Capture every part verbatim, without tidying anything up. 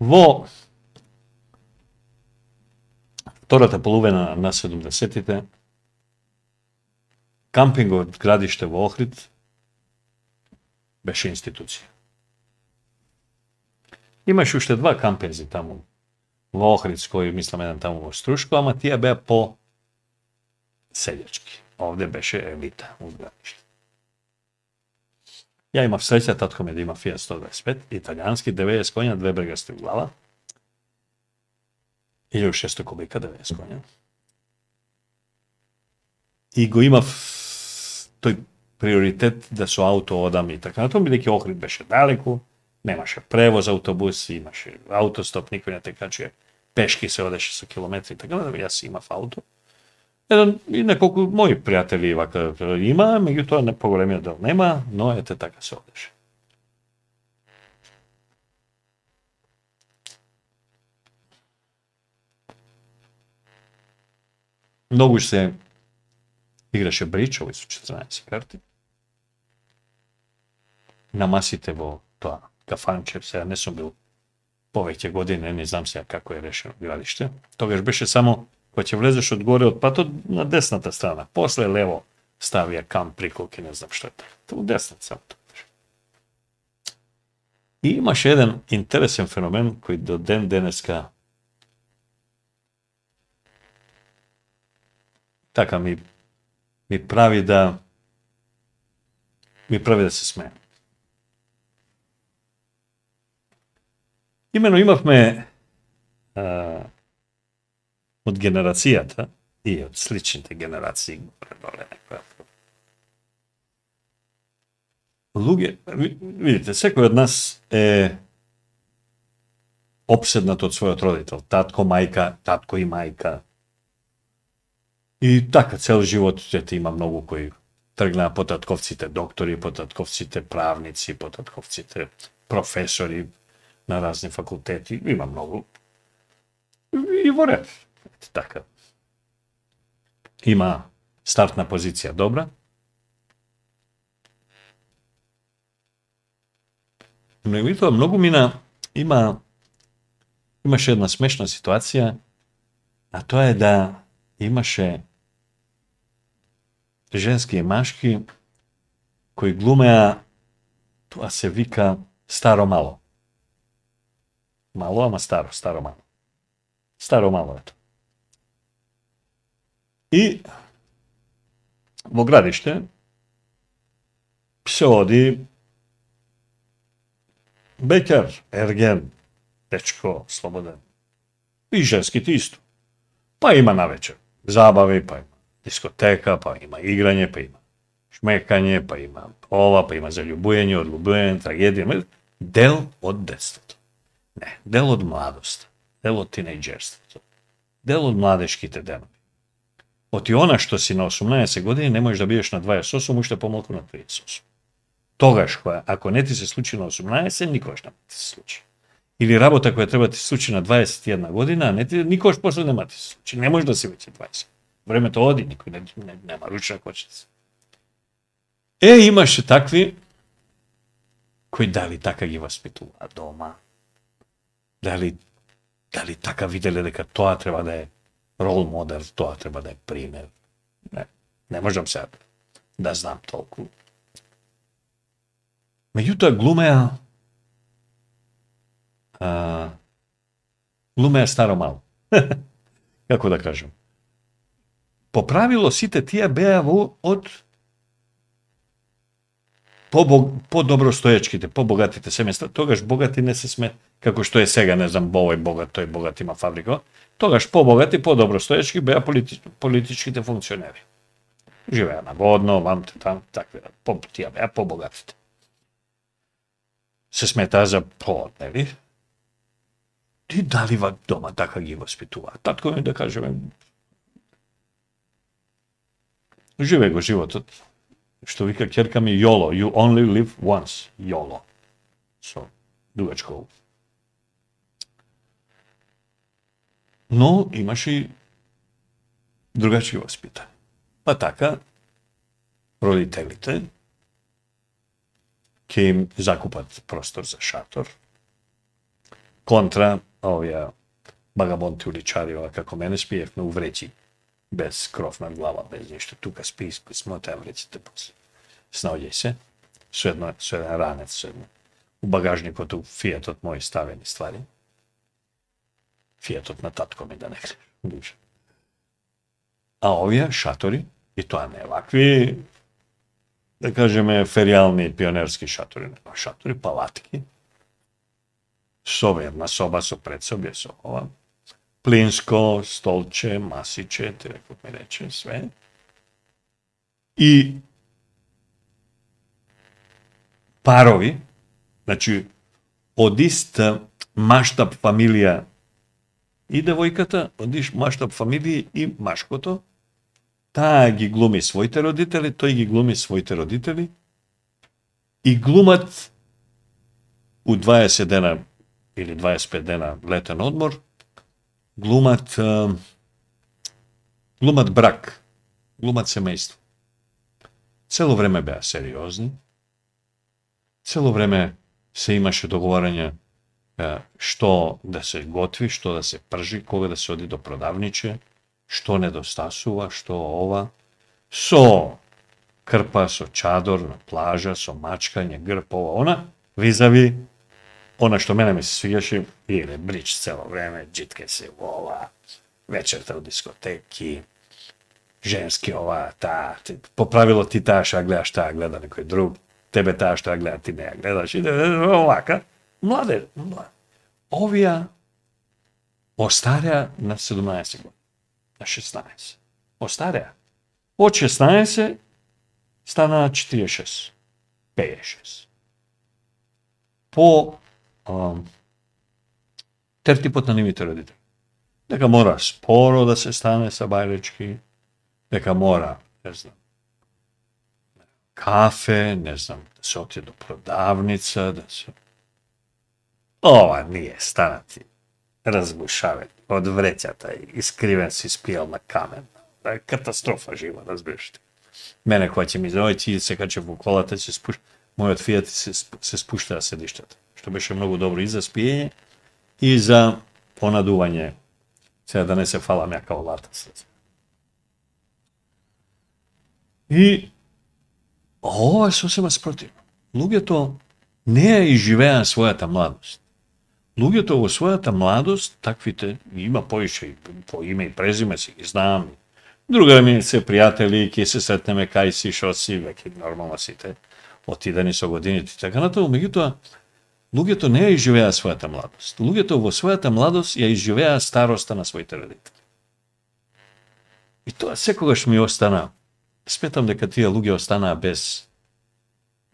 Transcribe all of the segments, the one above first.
Во втората половина на седумдесетите, кампингот градиште во Охрид беше институција. Имаше уште два кампинзи таму во Охридско и мислам еден таму во Струшко, ама тие беа по селјачки. Овде беше елита у градиште. Ја имав среќа, татко ми да има Фијат сто дваесет пет, италијански, деветдесет коња, две брегасти глава, илјаду и шеста кубика, деветдесет коња. И го имав тој приоритет да со ауто одам и така натаму, бидејќи Охрид беше далеку, немаше превоз, автобус, имаше аутостоп, никој не те качи, пешки се одеше со километри и така натаму, јас имав ауто. Еден и неколку мои пријатели вака има, меѓутоа не поголемиот дел нема, но ете така се одеше. Многу се играше бридж, овој со четрнаесет карти. На масите во тоа кафанче, сега не сум бил повеќе години, не знам сега како е решено градиште. Тогаш беше само кога ќе влезеш од горе од патот на десната страна, после лево ставија камп приколки, не знам што е така. У десната само тоа беше. И имаше еден интересен феномен кој до ден денеска така ми ми прави да ми прави да се смеем. Имено имавме а, од генерацијата и од сличните генерации луѓе, видите, секој од нас е опседнат од својот родител, татко, мајка, татко и мајка. И така цел живот ете има многу кои тргнаа по татковците доктори, по татковците правници, по татковците професори на разни факултети, има многу. И во ред. Така. Има стартна позиција добра. Меѓутоа многу мина има имаше една смешна ситуација, а тоа е да имаше женски и машки кои глумеа, тоа се вика старо мало. Мало, ама старо, старо мало. Старо мало ето. И во градиште се оди бекер, ерген, дечко, слободен. И женските исто. Па има навечер забави, па има дискотека, па има играње, па има шмекање, па има ова, па има заљубување, одлюбување, трагедија, дел од детството. Не, дел од младост, дел од тинејџерството, дел од младешките денови. Оти она што си на осумнаесет години не можеш да бидеш на дваесет и осум, уште помалку на триесет и осум. Тогаш, која, ако не ти се случи на осумнаесет, никогаш не ти се случи. Или работа која треба ти се случи на дваесет и една година, а не ти, никогаш после нема ти се случи. Не може да си веќе дваесет. Времето оди, никој не, не, нема ручна кочица. Е, имаше такви кои дали така ги воспитува дома, дали, дали така виделе дека тоа треба да е рол модел, тоа треба да е пример. Не, не можам сега да знам толку. Меѓутоа глумеа а, глумеа старо мало. Како да кажам? По правило сите тие беа во од по-добростоечките, по-богатите семејства. Тогаш богати не се сме, како што е сега, не знам, овој богат, тој богат има фабрика. Тогаш по-богати, по-добростоечки беа полити, политичките функционери. Живеа на водно, вамте, там, такви, по, тие беа по-богатите. Се сметаа за по, нели? И дали ва дома така ги воспитува. Татко ми да кажеме, живе го животот, што вика ќерка ми YOLO, you only live once, YOLO. Со дугачко. Но имаше и другачки воспитање. Па така, родителите ќе им закупат простор за шатор, контра овие багабонти уличари, ова како мене спиевме у вреќи, без кров над глава, без ништо. Тука спи, смотеа вреќите после. Снаоѓај се, со едно, со еден ранец, со едно. У багажникот, у фијатот мој ставени ствари. Фијатот на татко ми да не греш. А овие шатори, и тоа не е вакви, да кажеме, феријални пионерски шатори, не, шатори, палатки, со една соба со предсобје, со ова, плинско, столче, масиче, ти реков ми рече, све. И парови, значи, од ист маштаб фамилија и девојката, од ист маштаб фамилија и машкото, таа ги глуми своите родители, тој ги глуми своите родители и глумат у дваесет дена или дваесет и пет дена летен одмор, глумат глумат брак, глумат семејство. Цело време беа сериозни, цело време се имаше договарање што да се готви, што да се пржи, кога да се оди до продавниче, што недостасува, што ова, со крпа, со чадор на плажа, со мачкање, грб, ова, она, визави, она што мене ми се свигаше, или брич цело време, джитке се ова, вечерта у дискотеки, женски ова, таа, по правило ти таа што гледаш, таа гледа некој друг, тебе таа што гледа, ти не ја гледаш, и овака, младе, младе. Овија остареа на седумнаесет години. На шеснаесет. Остареа. Од шеснаесет стана четириесет и шест. пеесет и шест. По ам, тертипот на нивните родители. Дека мора споро да се стане са бајлечки, дека мора, не знам, кафе, не знам, да се отиде до продавница, да се... Ова ние станати разбушавен од вреќата и искривен си спијал на камен. Катастрофа жива, разбираш ти. Мене која ќе ми заојти, се каче во колата, се спушта, мојот фијат се, се спуштаа седиштата, што беше многу добро и за спиење и за понадување, сега да не се фала мјака олата. И ова е сосема спротивно. Луѓето не ја изживеа својата младост. Луѓето во својата младост, таквите, има поише, по име и презиме си ги знам, друга ми се пријатели, ке се сретнеме кај си, шо си, веќе нормално сите, отидени со годините и така натаму, меѓутоа, луѓето не ја изживеа својата младост. Луѓето во својата младост ја изживеа староста на своите родители. И тоа секогаш ми остана, сметам дека тие луѓе останаа без,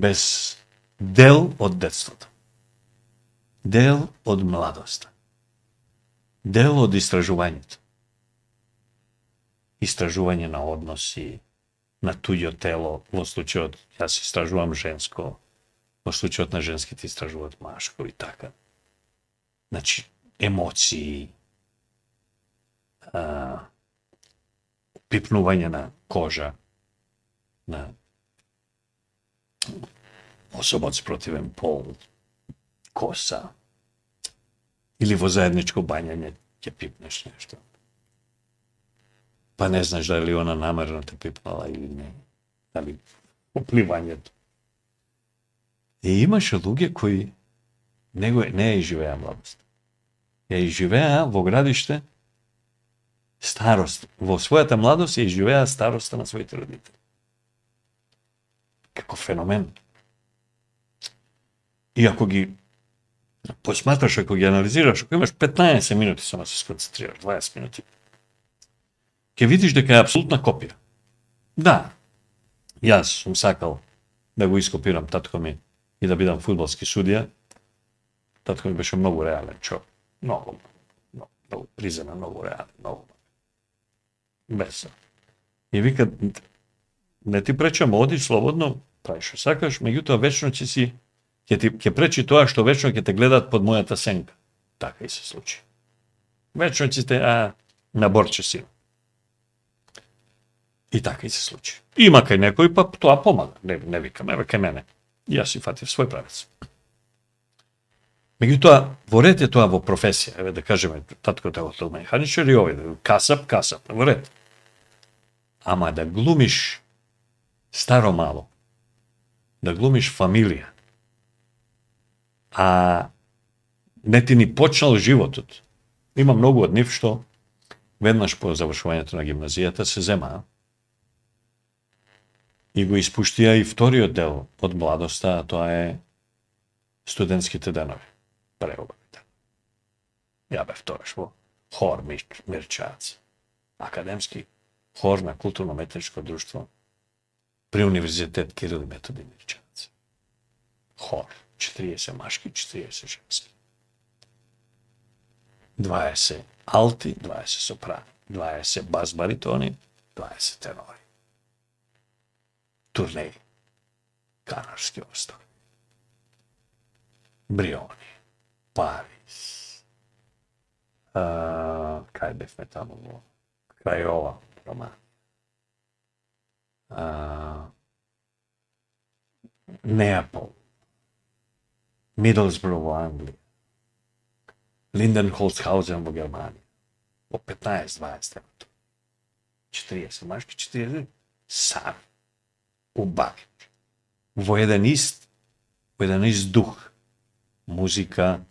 без дел од детството. Дел од младоста. Дел од истражувањето. Истражување на односи, на туѓо тело, во случајот, јас истражувам женско, во случајот на женските истражуваат машко и така. Значи, емоции, а, пипнување на кожа, на особа од спротивен пол, коса, или во заедничко бањање ќе пипнеш нешто. Па не знаеш дали она намерно те пипнала или не. Дали опливањето. И имаше луѓе кои не, го, не ја изживеа младост. Ја изживеа во градиште старост. Во својата младост ја изживеа староста на своите родители. Како феномен. И ако ги посматраш, ако ги анализираш, ако имаш петнаесет минути само се сконцентрираш, дваесет минути, ќе видиш дека е апсолутна копија. Да, јас сум сакал да го ископирам татко ми и да бидам фудбалски судија. Татко ми беше многу реален човек. Многу, многу, многу приземен, многу реален, многу. Без. И вика, не ти пречам, оди слободно, прави што сакаш, меѓутоа вечно ќе си ќе ти ќе пречи тоа што вечно ќе те гледаат под мојата сенка. Така и се случи. Вечно ќе те а на борче си. И така и се случи. Има кај некој, па тоа помага. Не, не викам, еве кај мене. Јас си фатив свој правец. Меѓутоа, во ред е тоа во професија. Еве да кажеме, таткото е автомеханичар и овој, касап, касап, во ред. Ама да глумиш старо мало, да глумиш фамилија, а не ти ни почнал животот. Има многу од нив што веднаш по завршувањето на гимназијата се земаа и го испуштија и вториот дел од младоста, а тоа е студентските денови. Преубавите. Ја бев тогаш во хор Мирчац, академски хор на културно-метничко друштво при Универзитет Кирил и Методи Мирчац. Хор, четириесет машки, четириесет женски. дваесет алти, дваесет сопрани, дваесет бас баритони, дваесет тенори. Турнеи, Канарски острови, Бриони, Париз, а, кај бевме таму во крај ова Романија, а, Неапол, Мидлсбро во Англија, Линденхолцхаузен во Германија, во петнаесет дваесет четириесет машки, четириесет сами, убави, во еден ист, во еден ист дух, музика,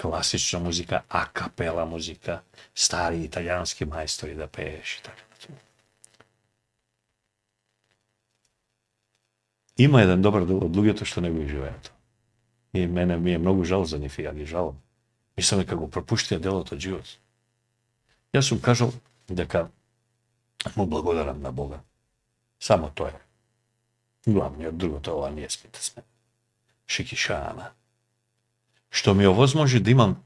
класична музика, акапела музика, стари италијански мајстори да пееш и така. Има еден добар дел од луѓето што не го живеат. И мене ми е многу жал за нив и ја ги жалам. Мислам дека го пропуштија делот од живот. Јас сум кажал дека му благодарам на Бога. Само тоа е. Главниот, другото ова ние смите сме. Шикишана. Што ми овозможи да имам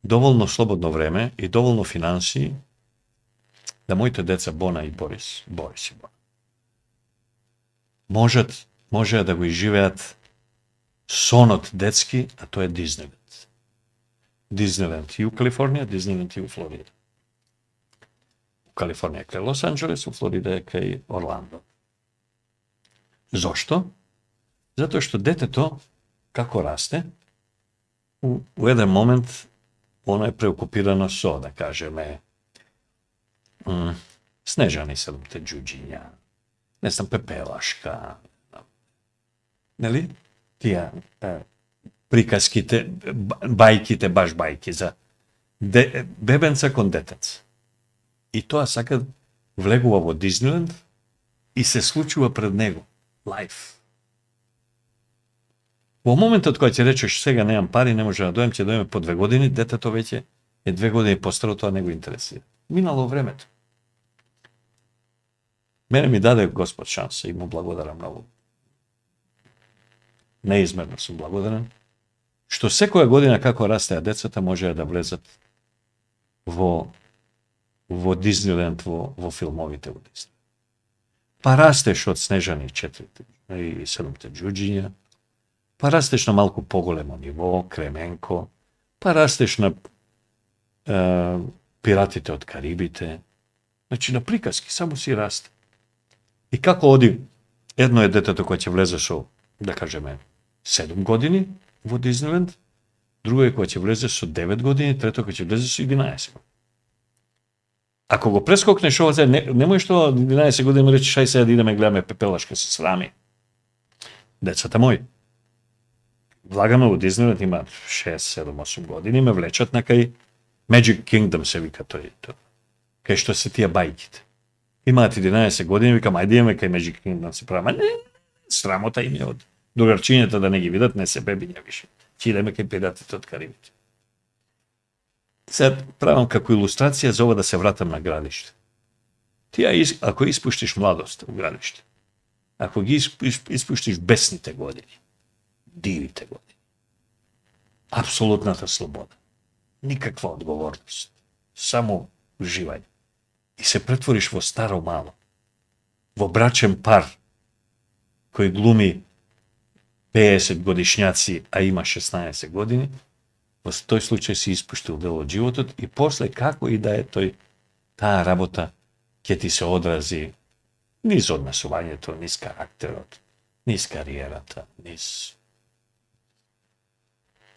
доволно слободно време и доволно финансии да моите деца Бона и Борис, Борис и Бона, можат, можеа да го изживеат сонот детски, а тоа е Диснейленд. Диснейленд и у Калифорнија, Диснейленд и у Флорида. У Калифорнија е кај Лос Анџелес, у Флорида е кај Орландо. Зошто? Затоа што детето, како расте, у, у еден момент оно е преокупирано со, да кажеме, м, Снежани седумте џуџиња, не знам, Пепелашка, нели? Тие е, приказките, бајките, баш бајки за де, бебенца кон детец. И тоа сака влегува во Диснейленд и се случува пред него. Лайф. Во моментот кој ќе речеш сега немам пари, не може да дојдем, ќе дојдеме по две години, детето веќе е две години постаро, тоа не го интересира. Минало времето. Мене ми даде Господ шанса и му благодарам многу. Неизмерно сум благодарен, што секоја година како растеа децата можеа да влезат во во Диснейленд, во, во филмовите во Диснейленд. Па растеш од Снежани четирите и седумте џуџиња, па растеш на малку поголемо ниво, Кременко, па растеш на е, Пиратите од Карибите, значи на приказки, само си расте. И како оди, едно е детето кој ќе влезе со, да кажеме, седум години во Диснейленд, друго е кој ќе влезе со девет години, трето кој ќе влезе со единаесет години. Ако го прескокнеш ова, не, немој што единаесет години речеш, ај сега да идеме гледаме Пепелашка, се срами. Децата мои. Влагаме во Диснейленд, има шест, седум, осум години, ме влечат на кај Magic Kingdom се вика тој, тој. Кај што се тие бајките. Имаат единаесет години, викам, ајде идеме кај Magic Kingdom се правиме. Не, срамота им е од другарчињата да не ги видат, не се бебиња више. Ќе идеме кај Пиратите од Карибите. Сега правам како илустрација за ова да се вратам на градиште. Ти ако испуштиш младост у градиште, ако ги испуштиш бесните години, дивите години, апсолутната слобода, никаква одговорност, само уживање, и се претвориш во старо мало, во брачен пар, кој глуми пеесет годишњаци, а има шеснаесет години, во тој случај си испуштил дел од животот и после како и да е тој, таа работа ќе ти се одрази низ однесувањето, низ карактерот, низ кариерата, низ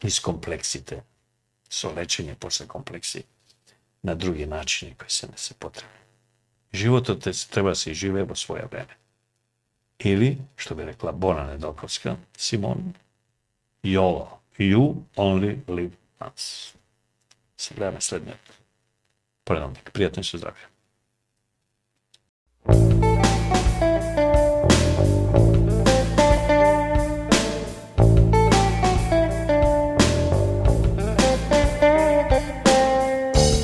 из комплексите, со лечење после комплекси, на други начини кои се не се потребни. Животот е, треба да се живее во своја време. Или, што би рекла Бона Недолковска, Симон, YOLO, you only live once. Се гледаме следниот предавник. Пријатно и со здравје.